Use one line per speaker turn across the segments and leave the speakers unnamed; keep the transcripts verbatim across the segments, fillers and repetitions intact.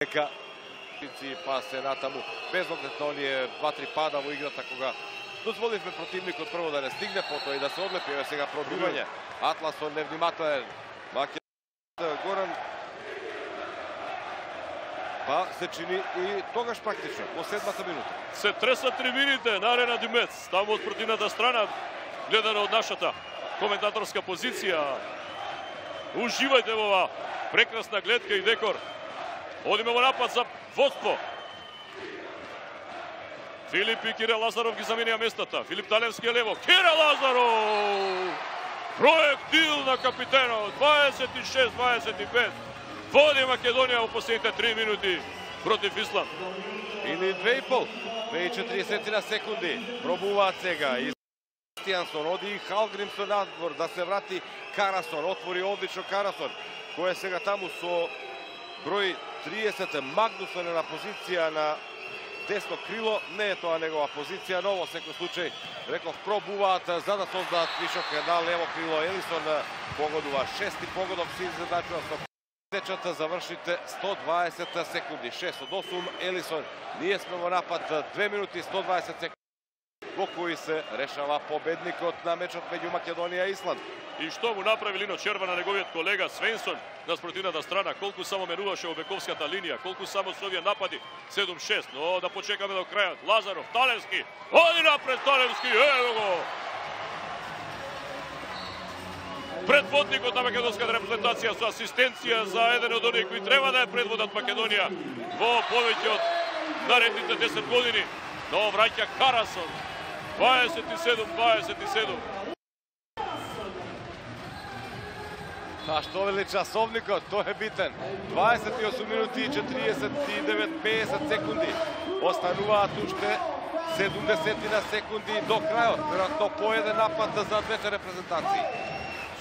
Нека па се натаму без оглед на оние два-три пада во играта кога дозволивме противникот прво да не стигне, потоа и да се одлепи. Еве сега пробивање. Атласон невнимателен. Горан па се чини и тогаш практично во седмата минута.
Се тресат трибините на Арена Димец, таму од противната страна, гледано од нашата коментаторска позиција. Уживајте во ова прекрасна гледка и декор. Одиме во напад за водство. Филип и Кирил Лазаров ги заменија местата. Филип Талевски е лево. Кирил Лазаров! Проектил на капитенот. дваесет и шест дваесет и пет. Води Македонија во последните три минути против Исланд.
Или две и пол. две и четиридесет на секунди. Пробуваат сега. Кристијансон оди и Халгримсон надвор да се врати Карасон. Отвори одлично Карасон. Кој е сега таму со број триесет. Магнусон е на позиција на десно крило. Не е тоа негова позиција, но во секој случај, реков, пробуваат за да создаат вишок на лево крило. Елисон погодува шести погодов, си задачува со течата, завршите сто дваесет секунди. шест од осум, Елисон. Ние сме во напад две минути сто дваесет секунди. Во кои се решава победникот на мечот меѓу Македонија и Исланд.
И што му направи Лино Черва на неговиот колега Свенсон на спротивната страна, колку само менуваше во бековската линија, колку само со овие напади седум шест, но да почекаме до крајот. Лазаров, Талевски, оди напред Талевски, ево го! Предводникот на македонската репрезентација со асистенција за еден од оние кои треба да ја предводат Македонија во повеќе од наредните десет години, но враќа Карасон. дваесет и седум дваесет и седум.
А што вели часовникот, тој е битен. дваесет и осум минути и четиридесет и девет песет секунди. Остануваат уште седумдесет на секунди до крајот. Веројатно по еден напад за двете репрезентации.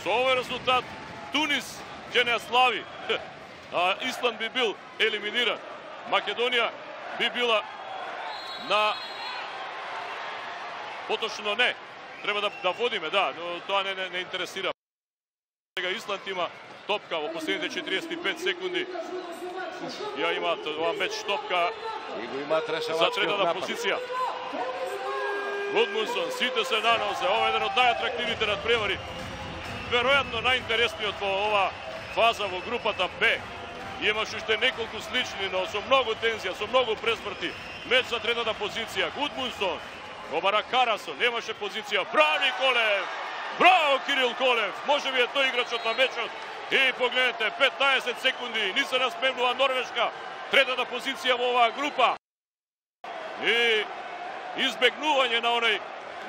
Со овој резултат Тунис ќе не слави. А Исланд би бил елиминиран. Македонија би била на поточно не. Треба да, да водиме, да, но тоа не, не, не интересира. Сега Исланд има топка во последните четиридесет и пет секунди. Ја имаат ова меч топка
и го имаат
за третата позиција. Гудмунсон, сите се на нозе. Ова е еден од најатрактивните надпревари. Веројатно најинтересниот во ова фаза во групата Б. Имаше уште неколку слични, но со многу тензија, со многу пресмрти. Меч за третата позиција. Гудмунсон, обара Карасон, немаше позиција. Прави Колев! Браво, Кирил Колев! Може би е тој играчот на мечот. И погледнете, петнаесет секунди, ни се наспремнува Норвешка. Третата позиција во оваа група. И избегнување на оној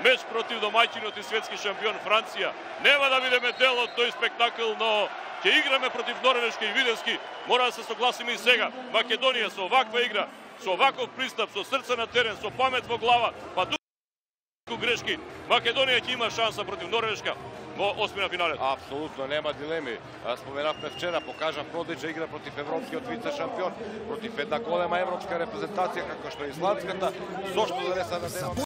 меч против домаќинот и светски шампион Франција. Нема да бидеме дел од тој спектакл, но ќе играме против Норвешка и Виденски. Мора да се согласиме и сега. Македонија со оваква игра, со оваков пристап, со срце на терен, со памет во глава, па грешки, Македонија ќе има шанса против Норвешка во осмина финалет.
Апсолутно, нема дилеми. Споменавме вчера, покажа продлична игра против европскиот вице шампион, против една голема европска репрезентација како што е исландската, зошто да не се надеваме.